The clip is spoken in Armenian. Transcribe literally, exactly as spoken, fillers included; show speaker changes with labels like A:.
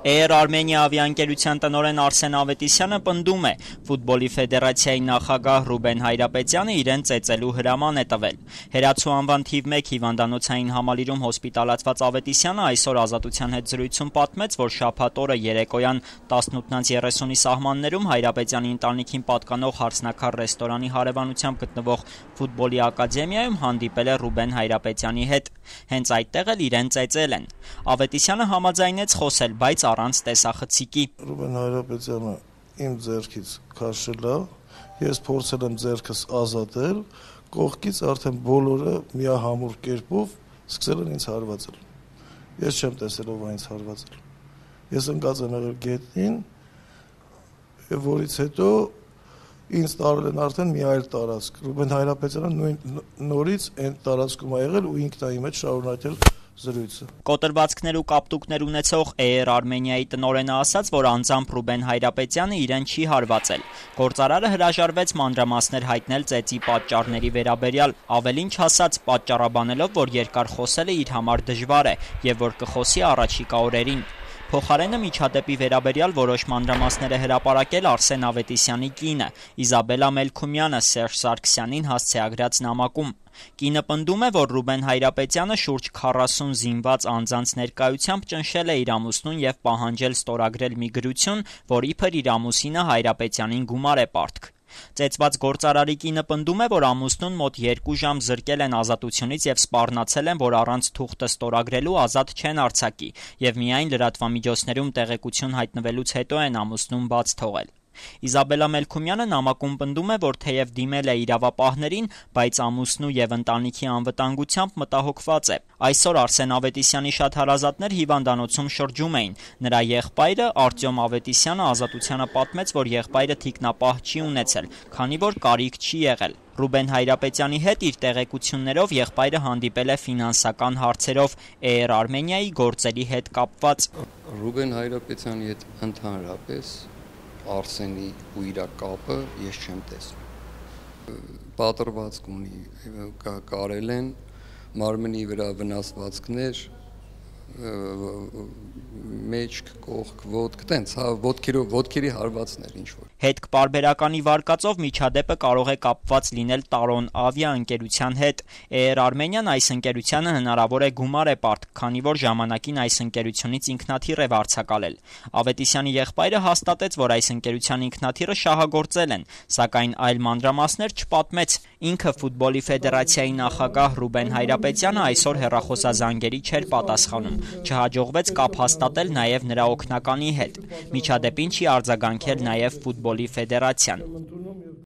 A: Air Armenia ավիաընկերության տնօրեն Արսեն Ավետիսյանը պնդում է, ֆուտբոլի ֆեդերացիայի նախագահ Ռուբեն Հայրապետյանը իրեն ծեծելու հրաման է տվել։ Հերացու անվան թիվ մեկ հիվանդանոցային համալիրում հոսպիտալացված Ավետիսյանը այսօր Ազատության հետ զրույցում պատմեց, որ շաբաթ օրը երեկոյան տասնութ երեսունի սահմաններում Հայրապետյանի ընտանիքին պատկանող Հարսնաքար ռեստորանի հարևանությամբ գտնվող ֆուտբոլի ակադեմիայում հանդիպել է Ռուբեն Հայրապետյանի հետ։ Հենց այդտեղ էլ իրեն ծեծել են։ Ավետիսյանը համաձայնեց խոսել, բայց առանց տեսախցիկի։
B: Ռուբեն Հայրապետյանը իմ ձեռքից քաշել է, ես փորձել եմ ձեռքս ազատել, կողքից արդեն բոլորը միահամուռ կերպով սկսել են ինձ հարվածել։ Ես չեմ տեսել ով է ինձ հարվածել։ Ես ընկած եմ եղել գետնին, եւ որից հետո ինձ տարել են արդեն մի այլ տարածք։ Ռուբեն Հայրապետյանը նույն նորից այն տարածքում է եղել ու ինքն է իմեջ շարունակել զրույցը։
A: Կոտրվածքներ ու կապտուկներ ունեցող Air Armenia-ի տնօրենը ասաց, որ անձամբ Ռուբեն Հայրապետյանը իրեն չի հարվածել։ Գործարարը հրաժարվեց մանրամասներ հայտնել ծեծի պատճառների վերաբերյալ, ավելին չասաց, պատճառաբանելով, որ երկար խոսելը իր համար դժվար է եւ որ կխոսի առաջիկա օրերին։ Փոխարենը միջադեպի վերաբերյալ որոշ մանրամասներ է հրապարակել Արսեն Ավետիսյանի կինը, Իզաբելլա Մելքումյանը Սերժ Սարգսյանին հասցեագրած նամակում։ Կինը պնդում է, որ Ռուբեն Հայրապետյանը շուրջ քառասուն զինված անձանց ներկայությամբ ճնշել է իր ամուսնուն եւ պահանջել ստորագրել մի գրություն, որ իբր իր ամուսինը Հայրապետյանին գումար է պարտք։ Ծեծված գործարարի կինը պնդում է, որ ամուսնուն մոտ երկու ժամ զրկել են ազատությունից եւ սպառնացել են, որ առանց թուղթը ստորագրելու ազատ չեն արձակի, եւ միայն լրատվամիջոցներում տեղեկություն հայտնվելուց հետո են ամուսնուն բաց թողել։ Իզաբելլա Մելքումյանը նամակում պնդում է, որ թեև դիմել է իրավապահներին, բայց ամուսնու եւ ընտանիքի անվտանգությամբ մտահոգված է։ Այսօր Արսեն Ավետիսյանի շատ հարազատներ հիվանդանոցում շրջում էին։ Նրա եղբայրը Արտյոմ Ավետիսյանը Ազատությանը պատմեց, որ եղբայրը թիկնապահ չի ունեցել, քանի որ կարիք չի եղել։ Ռուբեն Հայրապետյանի հետ իր տեղեկություններով եղբայրը հանդիպել է ֆինանսական հարցերով Air Armenia-ի գործերի հետ կապված։
C: Ռուբեն Հայրապետյանի հետ ընդհանրապես Արսենի ու իր կապը ես չեմ տեսնում։ Պատրվածք ունի, կարել են մարմնի վրա վնասվածքներ, մեջք, կողք, ոտք, տենց, ոտքերի, ոտքերի հարվածներ ինչ-որ։
A: Հետք պարբերականի վարկածով միջադեպը կարող է կապված լինել Տարոն ավիաընկերության հետ։ Air Armenia-ն այս ընկերությանը հնարավոր է գումար է պարտք, քանի որ ժամանակին այս ընկերությունից ինքնաթիռ է վարձակալել։ Ավետիսյանի եղբայրը հաստատեց, որ այս ընկերության ինքնաթիռը շահագործել են, սակայն այլ մանրամասներ չպատմեց։ Ինքը ֆուտբոլի ֆեդերացիայի նախագահ Ռուբեն Հայրապետյանը այսօր հեռախոսազանգերի չէր պատասխանում։ Չհաջողվեց կապ հաստատել նաև նրա օգնականի հետ։ Միջադեպին չի արձագանքել նաև ֆուտբոլի ֆեդերացիան։